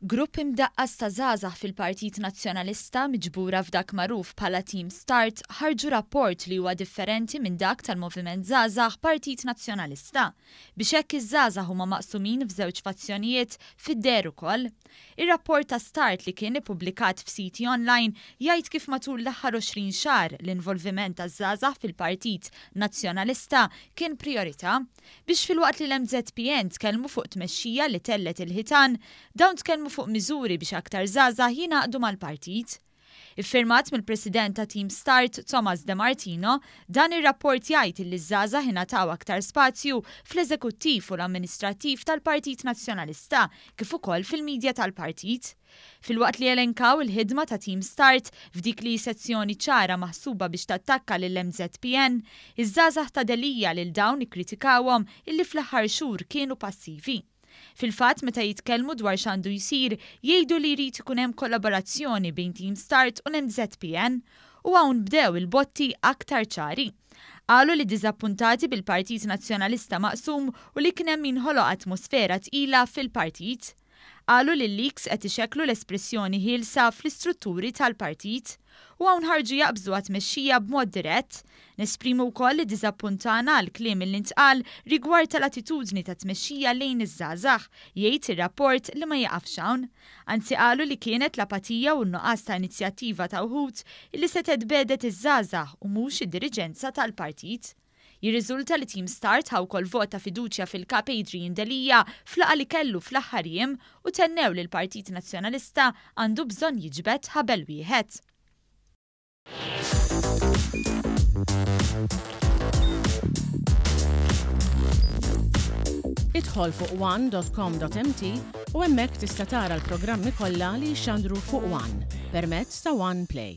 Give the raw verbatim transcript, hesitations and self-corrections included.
Grupp imdaqqas ta' żgħażagħ fil-Partit Nazzjonalista miġbura f'dak magħruf bħala Team Start ħarġu rapport li huwa differenti minn dak tal-Moviment Żgħażagħ Partit Nazzjonalista. Biex hekk iż-żgħażagħ huma maqsumin f'żewġ fazzjonijiet fid-deher ukoll. Ir-rapport ta' Start li kien ippubblikat f'siti online jgħid kif matul l-aħħar għoxrin xahar l-involviment taż-żgħażagħ fil-Partit Nazzjonalista kien priorità. Biex filwaqt li l-M Z P N tkellmu fuq tmexxija li tellet il-ħitan, dawn tkellmu fuq miżuri biex aktar żgħażagħ jingħaqdu mal-partit. Iffirmat mill-President ta' Team Start, Thomas De Martino, dan ir-rapport jgħid li ż-żgħażagħ ingħataw aktar spazju fl-eżekuttiv u l-amministrattiv tal-Partit Nazzjonalista kif ukoll fil-midja tal-partit. Filwaqt li elenkaw il-ħidma ta' Team Start f'dik li sezzjoni ċara maħsuba biex tattakka lil M Z P N, iż-żgħażagħ ta' Delia lil dawn ikkritikawhom illi fl-aħħar xhur kienu passivi. Fil-fatt, meta jitkellmu dwar x'għandu jsir, jgħidu li jrid ikun hemm kollaborazzjoni bejn Team Start u l-M Z P N u hawn bdew il-botti aktar ċari. Qalu li diżappuntati bil-Partit Nazzjonalista maqsum u li kien hemm min ħoloq atmosfera tqila fil-partit. Qalu li l-leaks qed ixekklu l-espressjoni ħielsa fl-istrutturi tal-partit u hawn ħarġu jaqbżu għat-tmexxija b'mod dirett. Nesprimu wkoll li diżappuntana għal kliem li ntqal rigward tal-attitudni ta' tmexxija lejn iż-żgħażagħ, jgħid ir-rapport li ma jaqafx hawn. Anzi qalu li kienet l-apatija u n-nuqqas ta' inizjattiva ta' wħud illi setgħet bedet iż-żgħażagħ u mhux id-diriġenza tal-partit. Jirriżulta li Team Start ħa wkoll vot ta' fiduċja fil-kap Adrian Delia fl-laqgħa li kellu fl-aħħar jiem u tennew li l-Partit Nazzjonalista għandu bżonn jiġbed ħabel wieħed. Idħol fuq one dot com dot M T u hemmhekk tista' tara l-programmi kollha li jxandru fuq One permezz ta' One Play.